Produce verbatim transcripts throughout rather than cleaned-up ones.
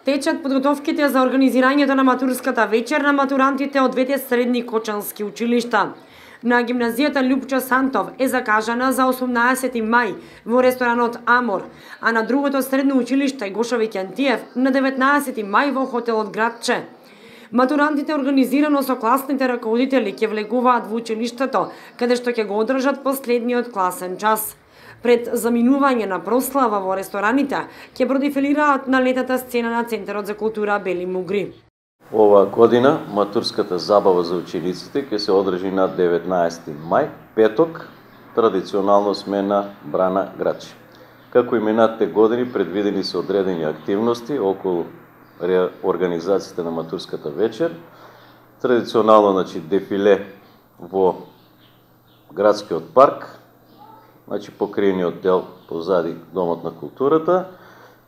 Течат подготовките за организирањето на матурската вечер на матурантите од двете средни кочански училишта. На гимназијата Љупчо Сантов е закажана за осумнаесети мај во ресторанот Амор, а на другото средно училиште Гоша Викентиев на деветнаесети мај во хотелот Градче. Матурантите организирано со класните раководители ќе влегуваат во училиштето, каде што ќе го одржат последниот класен час. Пред заминување на прослава во рестораните, ќе продефилираат на летата сцена на Центарот за култура Бели Мугри. Ова година матурската забава за учениците ќе се одржи на деветнаесети мај, петок, традиционално смена Брана Градче. Како и минатите години предвидени се одредени активности околу организацијата на матурската вечер. Традиционално, значи, дефиле во градскиот парк, значи покриениот дел позади Домот на културата.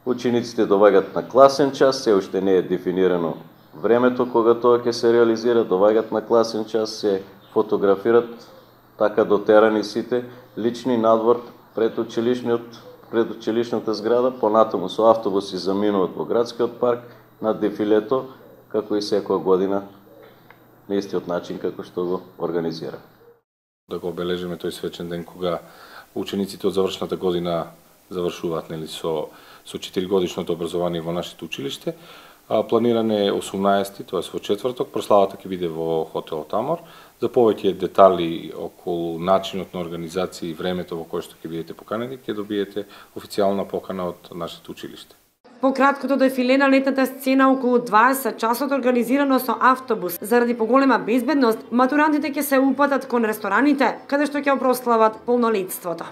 Учениците доаѓаат на класен час, се уште не е дефинирано времето кога тоа ќе се реализира, доаѓаат на класен час, се фотографират така дотерани сите лични надвор пред училишниот пред училишната зграда, понатаму со автобуси заминуваат во градскиот парк на дефилето, како и секоја година на истиот начин како што го организира. Да го обележиме тој свечен ден кога учениците од завршната година завршуваат, нели, со со четиригодишното образование во нашето училиште. А, планиране е осумнаесети, тоа е во четврток, прославата ќе биде во хотелот Амор. За повеќе детали околу начинот на организација и времето во кое што ќе бидете поканени, ќе добиете официјална покана од нашето училиште. По краткото дефиле на летната сцена околу дваесет часот организирано со автобус, заради поголема безбедност, матурантите ќе се упатат кон рестораните, каде што ќе прослават полнолетството.